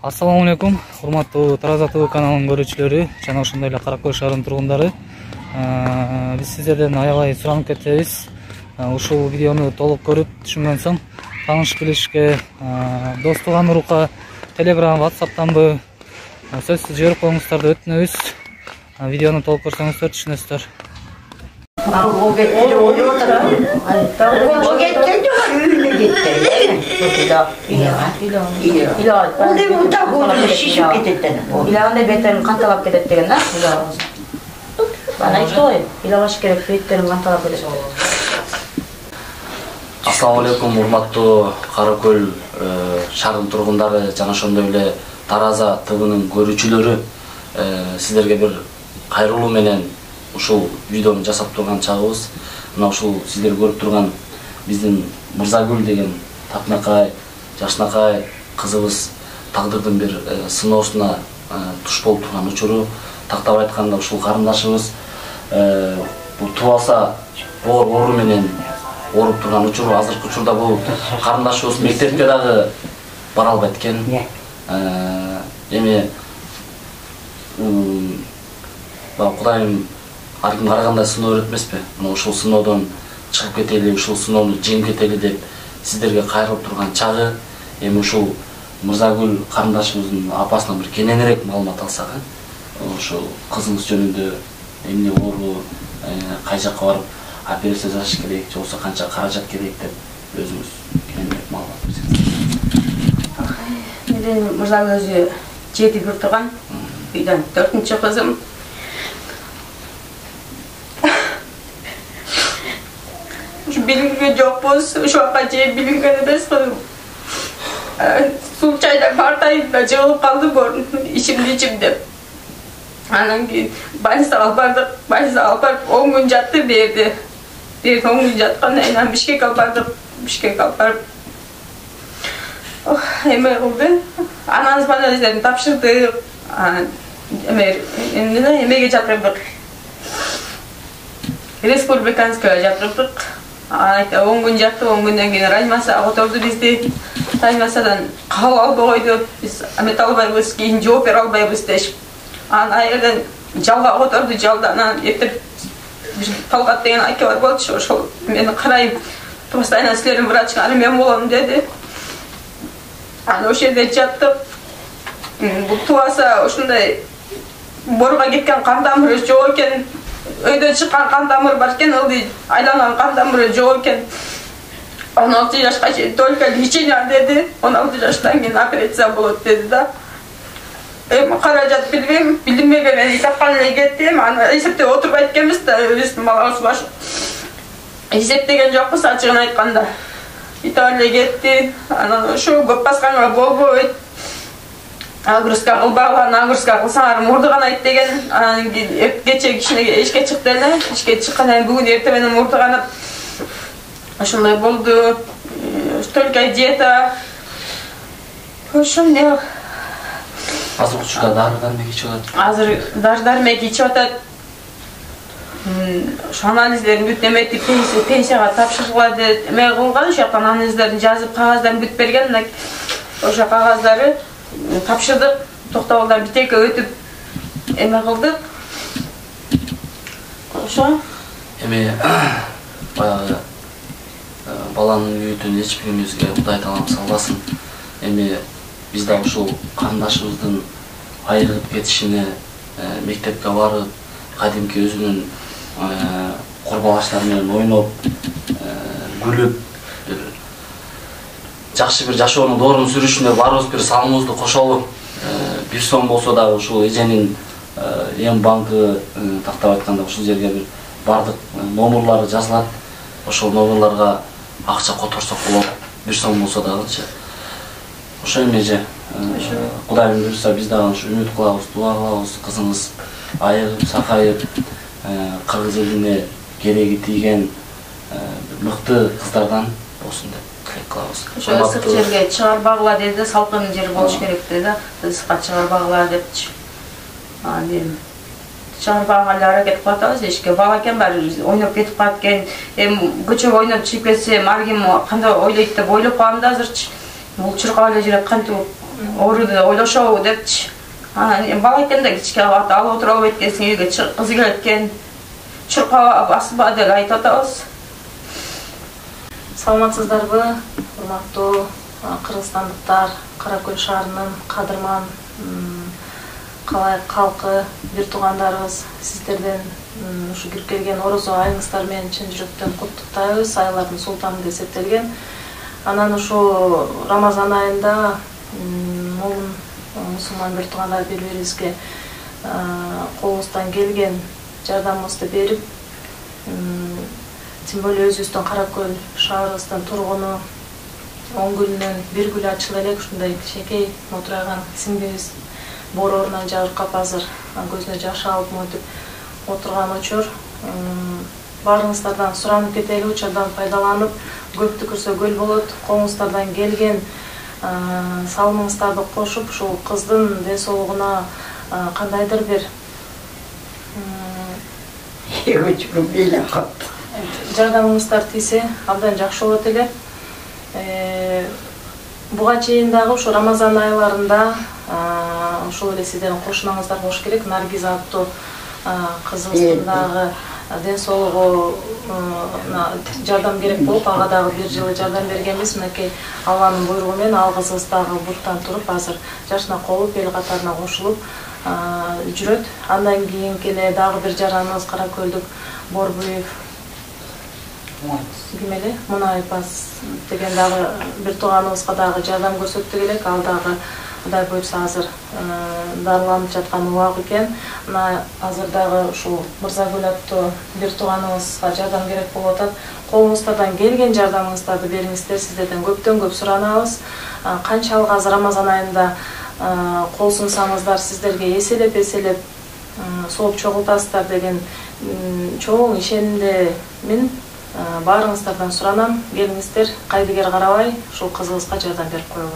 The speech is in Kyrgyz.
Ассаламу алейкум, урматтуу Тараза ТВ каналынын көрүүчүлөрү жана ошондой эле Кара Көл шаарынын тургундары. Биз сиздерден аябай суранып кетебиз. Ушул видеону толук көрүп түшүнгөн соң тааныш билишке дос тууган урукка Telegram, WhatsApp'танбы сөзсүз жиберип коюңуздарды өтүнөбүз. Видеону толук көрсөңүздөр түшүнөсүздөр. İlağında beterin kantalap kedet degen da. Bana işte o. İlağaş gerek beterin kantalap kedet. Assalamu alaikum, урматтуу Кара Көл шаарынын тургундары жана ошондой эле Тараза ТВнын көрүүчүлөрү, сиздерге бир кайрылуу менен ушул видеону жасап турган чагыбыз. Мына ушул сиздер көрүп турган биздин Мырзагүл деген тапнакай, жашнакай кызыбыз тагдырдын бир сыноосуна туш болуп турган учуру. Тактап айтканда ушул карындашыбыз бул тубаса оору менен ооруп турган учуру. Азыркы учурда бул карындашыбыз мектепке дагы бара албайт экен. Эми Кудайым ар ким карагандай сыноо берет эмеспи? Мына ушул сыноодон чыгып кетели, ушул сыноону жеңип кетели деп сиздерге кайрылып турган чагы. Эми ушул Мырзагүл карындашыбыздын апасынан бир кененирээк маалымат алсак, ошол кызыңыз жөнүндө эмне оору, кай жакка барып операция жасаш керек, же болбосо канча каражат керек деп өзүңүз кененирээк маалымат берсеңиз. Менин Мырзагүл өзү 7 бир турган. Үйдөн 4-чү кызым. Билинген жокпуз, ошоға же билинген эмес кызым. Суу чайда картайып жыгылып калды борун, ичим деп. Анан кийин больницага алып бардык. Больницага алып барып 10 күн жатты берди. 10 күн жаткандан кийин Бишкекке алып бардык. Бишкекке алып барып эме кылды. Анан больницадан тапшырдык. Эмеге жатырдык. Республиканская жатырдык. 10 күн жатты, 10 күндөн кийин реанимацияга которду бизди. Реанимациядан кабыл албай койду. Биз эмете албайбыз, кийин жооп бере албайбыз дешип. Анан айерден жалга которду, жалдан эртеп Талгат деген аке бар болчу, ошол мени карайм. Постоянно силердин врачыңар мен болом деди. Анан ошол жерде жаттык. Бул тубаса ушундай борго кеткен кан тамыры жок экен. Өйдөн чыккан кан тамыр бар экен, ылдый айланган кан тамыры жок экен. 16 жашка чейин только лечение деди. 16 жаштан кийин операция болот деди да. Каражат билбейм, билинбеген мен исапкан эле кеттим. Аны эсептеп отурбайт экенбиз да, биздин балабыз баш. Эсептеген жокпуз ачыгын айтканда. Итап эле кетти. Анан ошо көп басканга болбойт. Нагрузка кылбаган, нагрузка кылсаңар мурду канайт деген. Анан кийин кече кичине ишке чыкты эле. Ишке чыккандан кийин бүгүн эртең менен мурду канып. Ошондой болду. Только диета. Ошондой. Азыр учурда дары-дармек ичип атат. Азыр дары-дармек ичип атат. Ошо анализдерин бүт эметип пенсияга тапшырылады. Эме кылган, ошо анализдерин жазып кагаздарын бүт берген. Ошо кагаздары тапшырдык. Токтогулдан битекке өтүп эме кылдык. Ошо. Эми баягы баланын үйүтүн эч биримизге Кудай таалам салбасын. Эми биз да ушул карындашыбыздын айрылып кетишине, мектепке барып, кадимки өзүнүн курбалаштары менен ойноп, күлүп, жакшы бир жашоонун доорун сүрүшүнө баарыбыз бир салымыбызды кошолу. 1 сом болсо дагы ушул эженин эм банкы тактап айтканда ушул жерге бир бардык номерлары жазылат. Ошол номерларга акча которсок болот. 1 сом болсо дагычы. Ошо эмеже Кудайым буйруса биз дагы ушу үмүт кылабыз, дуа кылабыз, кызыңыз айыгып, сакайып, кыргыз элине кереги тийген мыкты кыздардан болсун деп тилек кылабыз. Ошо ысык жерге чыгарбагыла деди, салкын жер болуш керек деди. Ысыкка чыгарбагыла депчи. Анан чыгарбагага эле аракет кылып атабыз. Эшикке бала экен баары ойноп кетип калат экен. Эми көчөгө ойноп чыгып кетсем, ар ким кандай ойлойт деп ойлоп калам да азырчы. Бул чуркап эле жүрөт, кантип ооруду ойлошобу депчи. Бала экенде кичке алып отуруп албайт экенсиң, үйгө кызы келет экен. Чуркап баспа деп айтып атабыз. Саламатсыздарбы, урматтуу кыргызстандыктар, Каракөл шаарынын кадырман калкы, бир туугандарыбыз, сиздерден ушу кирип келген орозо айыңыздар менен чын жүрөктөн куттуктайбыз. Айлардын султаны деп эсептелген. Анан ушу Рамазан айында момун мусулман бир туугандар бири-бирибизге колубуздан келген жардамыбызды берип, тим более өзүбүздүн Каракөл шаарыбыздын тургуну 10 күнүнөн бир гүл ачыла элек ушундай кичинекей отурган сиңдибиз боорунан жабыркап азыр көзүнө жаш алып монтип отурган учур. Баарыңыздардан суранып кетели, учурдан пайдаланып, көптү көрсө көл болот. Колуңуздардан келген салымыңыздарды кошуп, ушул кыздын ден соолугуна кандайдыр бир жардамыңыздар тийсе абдан жакшы болот эле. Буга чейин дагы ушу Рамазан айларында ошол эле сиздердин кошунаңыздар болуш керек. Наргиза аттуу кызыбыздын дагы ден соолугуна жардам керек болуп, ага дагы бир жылы жардам бергенбиз. Мынакей Алланын буйругу менен ал кызыбыз дагы буттан туруп, азыр жашына колуп, эл катарына кошулуп жүрөт. Андан кийинкине дагы бир жараныбыз Каракөлдүк Борбуев Гимели Мунайбас деген дагы бир тууганыбызга дагы жардам көрсөттүк элек. Ал дагы Кудай буйрса азыр дарыланып жаткан убак экен. Мына азыр дагы ушул Мырзагүл аттуу бир тууганыбызга жардам керек болуп атат. Колуңуздардан келген жардамыңыздарды бериңиздер. Сиздерден көптөн көп суранабыз. Канчалык азыр Рамазан айында кол сунсаңыздар, сиздерге эселеп сооп чогултасыздар деген чоң ишенимде мен баарыңыздардан суранам. Келиңиздер, кайдыгер карабай ушул кызыбызга жардам берип коелу.